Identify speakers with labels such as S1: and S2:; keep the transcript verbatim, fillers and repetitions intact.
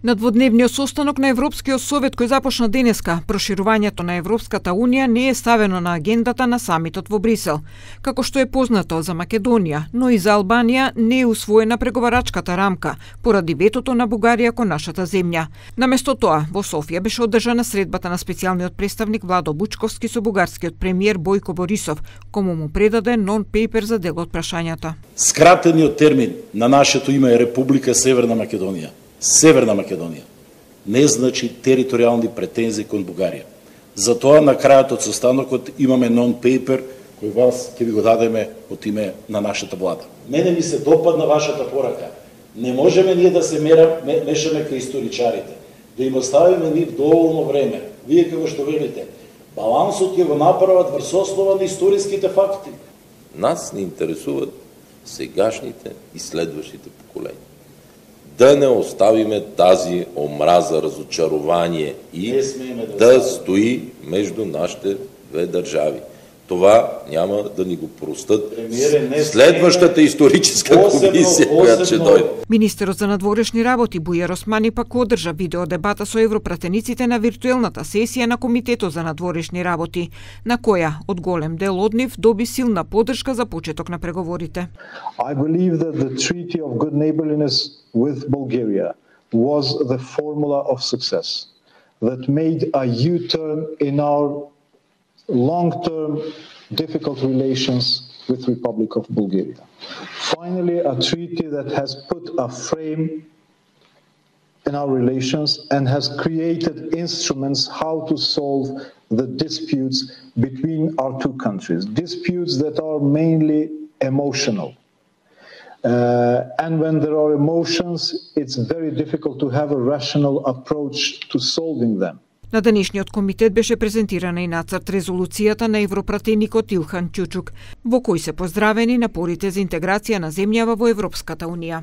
S1: На дводневниот состанок на Европскиот совет кој започна денеска, проширувањето на Европската унија не е ставено на агендата на самитот во Брисел. Како што е познато за Македонија, но и за Албанија не е усвоена преговарачката рамка поради ветото на Бугарија кон нашата земја. Наместо тоа, во Софија беше одржана средбата на специјалниот представник Владо Бучковски со бугарскиот премиер Бојко Борисов, кому му предаде нон-пейпер за дел од прашањата.
S2: Скратениот термин на нашето име е Република Северна Македонија. Северна Македонија не значи територијални претензии кон Бугарија. Затоа на крајот од состанокот имаме нон-пейпер кој вас ќе ви го дадеме од име на нашата влада. Мене ми се допадна вашата порака. Не можеме ние да се мера, мешаме кај историчарите, да им оставиме нив доволно време. Вие како што велите, балансот ќе го направат врз основа на историските факти.
S3: Нас не интересуват сегашните и следващите поколения. Да не оставиме тази омраза, разочарување и да, да стои между нашите две држави. Това няма да ни го простат следващата историческа комисија која ќе дојде.
S1: Министерот за надворешни работи Бујар Османи пак одржа видео дебата со европратениците на виртуелната сесија на Комитетот за надворешни работи, на која од голем дел од нив доби силна поддршка за почеток на преговорите.
S4: I believe that the treaty of good neighborliness with Bulgaria was the formula of success that made a U-turn in our long-term difficult relations with Republic of Bulgaria. Finally, a treaty that has put a frame in our relations and has created instruments how to solve the disputes between our two countries, disputes that are mainly emotional. Uh, and when there are emotions, it's very difficult to have a rational approach to solving them.
S1: На денешниот комитет беше презентирана и нацрт резолуцијата на европратеникот Илхан Ќучук, во кој се поздравени напорите за интеграција на земјава во Европската унија.